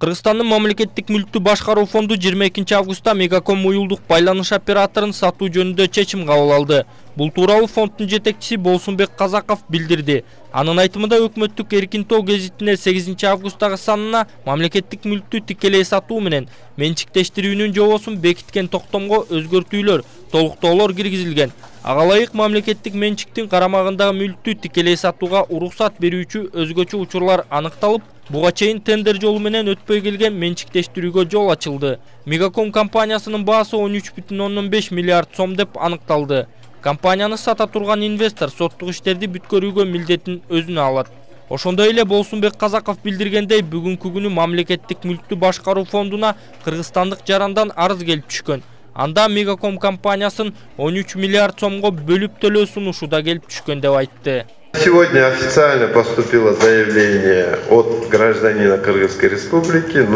Кыргызстандын мамлекеттик мүлктү башкаруу фонду 22 августта Мегаком уюлдук байланыш операторун сатуу жөнүндө чечим кабыл алды. Бул тууралуу фонддун жетекчиси Болсунбек Казаков билдирди. Анын айтымында өкмөттүк Эркин Тоо гезитине 8 августтагы санына мамлекеттик мүлктү тикелей сатуу менен менчиктештирүүнүн жобосун бекиткен токтомго өзгөртүүлөр, толуктоолор киргизилген. Ага ылайык мамлекеттик менчиктин карамагындагы мүлктү тикелей сатууга уруксат берүүчү өзгөчө учурлар аныкталып, буга чейин тендер жолу менен өтпөй келген менчиктештирүүгө жол ачылды. Мегаком компаниясынын баасы 13,5 миллиард сом деп аныкталды. Компанияны сата турган инвестор соттук иштерди бүткөрүүгө милдетин өзүнө алат. Ошондой эле Болсунбек Казаков билдиргендей, бүгүнкү күнү мамлекеттик мүлктү башкаруу фондуна кыргызстандык жарандан арыз келип түшкөн. Анда Мегаком компаниясын 13 миллиард сомго бөлүп төлөө сунушу да келип түшкөн деп айтты. Сегодня официально поступило заявление от гражданина Кыргызской Республики.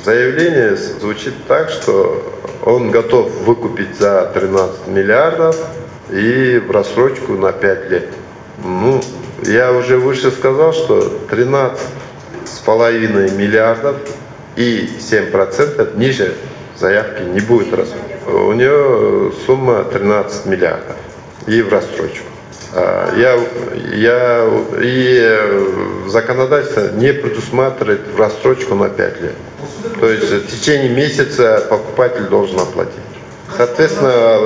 Заявление звучит так, что он готов выкупить за 13 миллиардов и в рассрочку на 5 лет. Я уже выше сказал, что 13,5 миллиардов и 7% ниже заявки не будет рассрочки. У нее сумма 13 миллиардов и в рассрочку. Законодательство не предусматривает в рассрочку на 5 лет. То есть в течение месяца покупатель должен оплатить. Соответственно,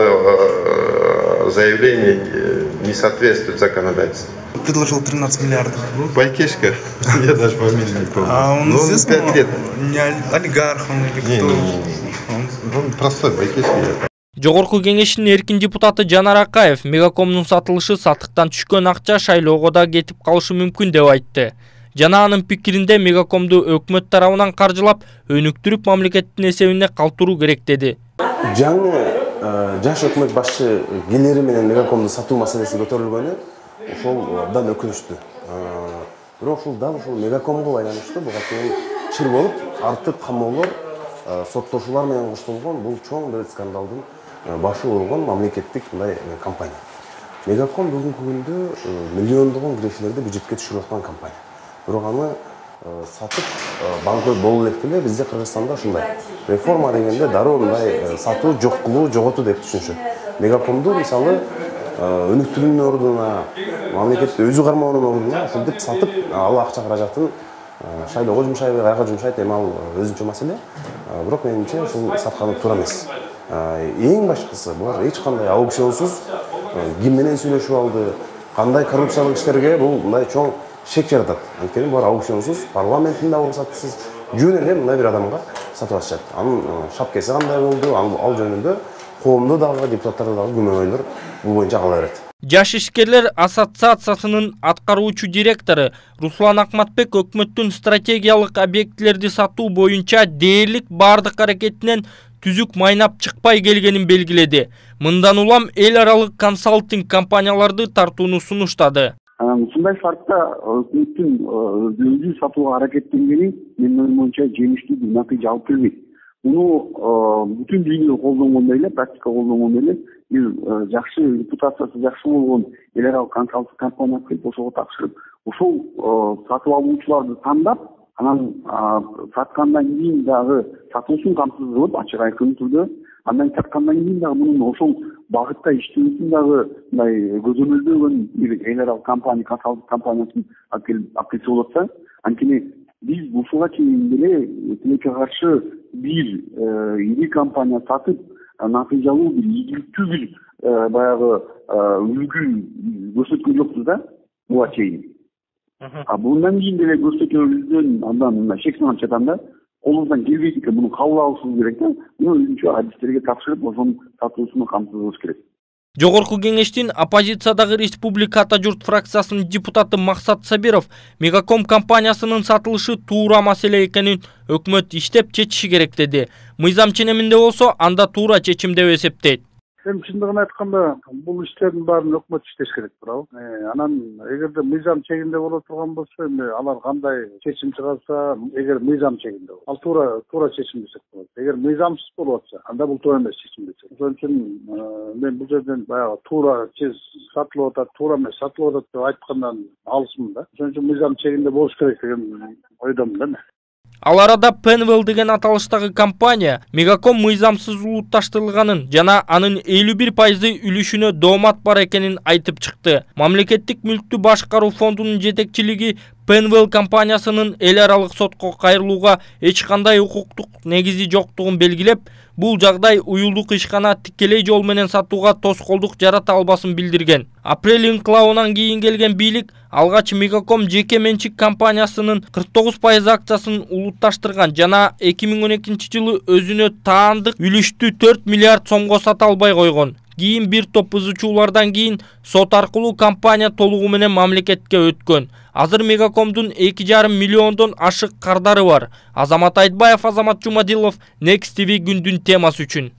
заявление не соответствует законодательству. Предложил 13 миллиардов. Байкешка. Я даже фамилию не помню. А он известный? 5 лет. Не олигарх он или кто? Он простой байкешка. Жогорку кеңештин эркин депутаты Жанар Акаев Мегакомдун сатылышы сатыктан түшкөн акча шайлоого да кетип калышы мүмкүн деп айтты. Жана анын пикиринде Мегакомду өкмөт тарабынан каржылап, өнүктүрүп мамлекеттин эсебине калтыруу керек деди. Жаңы жаш өкмөт башчы келери менен Мегакомду сатуу маселеси көтөрүлгөнү ошол абдан өкүнүчтүү. Бирок ушул дал ушул Мегакомго байланыштуу буга чейин чыр болуп, артык камоолор, соттошуулар менен коштолгон бул чоң бир скандалдын башы болгон мамлекеттик мындай компания. Мегаком бүгүнкү күндө миллиондогон кирешелерди бюджетке түшүрүп аткан компания. Бирок аны сатып банкрот болуу элек эле бизде Кыргызстанда ушундай. Реформа дегенде дароо мындай сатуу жок кылуу, жоготуу деп түшүнүшөт. Мегакомду мисалы өнүктүрүүнүн ордуна, мамлекетти өзү кармоонун ордуна ушинтип сатып, ал акча каражатын шайлоого жумшайбы, каяка жумшайт, эми ал өзүнчө маселе. Бирок менимче ушул сатканы туура эмес. Эң башкысы булар эч кандай аукционсуз ким менен сүйлөшүп алды, кандай коррупциялык иштерге бул мындай чоң шек жаратат. Анткени булар аукционсуз, парламенттин да уруксатысыз жөн эле мындай бир адамга сатып атышат. Анын шапкеси кандай болду, ал жөнүндө коомдо дагы, депутаттарда дагы күмөнөөлөр бул боюнча кала берет. Жаш ишкерлер ассоциациясынын аткаруучу директору Руслан Акматбек өкмөттүн стратегиялык объектилерди сатуу боюнча дээрлик бардык аракетинен түзүк майнап чыкпай келгенин белгиледи. Мындан улам эл аралык консалтинг компанияларды тартууну сунуштады. Ушундай шартта өкмөттүн өзү сатууга аракеттенгени менин оюмча жемиштүү бир натыйжа алып келбейт. Муну бүтүн дүйнө колдонгондой эле, практика колдонгондой эле бир жакшы репутациясы жакшы болгон эл аралык консалтинг компанияга келип ошого тапшырып, ошол сатып алуучуларды тандап, анан саткандан кийин дагы сатуусун камсыз кылып, ачык айкын түрдө, андан саткандан кийин дагы мунун ошол багытта иштөөсүн дагы мындай көзөмөлдөгөн бир эл аралык компания, консалтинг компаниясын алып келсе болот да. Анткени биз ушуга чейин деле тилекке каршы бир ири компания сатып, натыйжалуу бир ийгиликтүү бир баягы үлгү көрсөткөн жокпуз да буга чейин. Bundan кийин деле көрсөтөбүздөн андан мына шек санап жатам да. Колубуздан келбейт экен, муну кабыл алышыбыз керек да. Муну өзүнчө адистерге тапшырып, ошонун сатуусуну камсыз кылыш керек. Жогорку кеңештин оппозициядагы Республика Ата журт фракциясынын депутаты Максат Сабиров Мегаком компаниясынын сатылышы туура маселе экенин өкмөт иштеп чечиши керек деди. Мыйзам ченеминде болсо, анда туура чечим деп эсептейт. Эми чындыгын айтканда, бул иштердин баарын өкмөт иштеш керек, туурабы? Анан эгерде мыйзам чегинде боло турган болсо, эми алар кандай чечим чыгарса, эгер мыйзам чегинде болсо, ал туура чечим десек болот. Эгер мыйзамсыз болуп атса, анда бул туура эмес чечим десек. Ошон үчүн мен бул жерден баягы туура сатылып атат, туура эмес сатылып атат деп айткандан алысмын да. Ошон үчүн мыйзам чегинде болуш керек деген ойдомун да мен. Ал арада Penwell деген аталыштагы компания Мегаком мыйзамсыз улутташтырылганын жана анын 51% үлүшүнө доомат бар экенин айтып чыкты. Мамлекеттик мүлктү башкаруу фондунун жетекчилиги Penwell компаниясынын эл аралык сотко кайрылууга эч кандай укуктук негизи жоктугун белгилеп, бул жагдай уюлдук ишкана тикелей жол менен сатууга тоскоолдук жарата албасын билдирген. Апрель инкылабынан кийин келген бийлик алгач Мегаком жеке менчик компаниясынын 49% акчасын улутташтырган жана 2012-жылы өзүнө таандык үлүштү 4 миллиард сомго сата албай койгон. Кийин бир топ бузуучулардан кийин сот аркылуу компания толугу менен мамлекетке өткөн. Азыр Мегакомдун 2,5 миллиондон ашык кардары бар. Азамат Айтбаев, Азамат Жумадилов, Next TV күндүн темасы үчүн.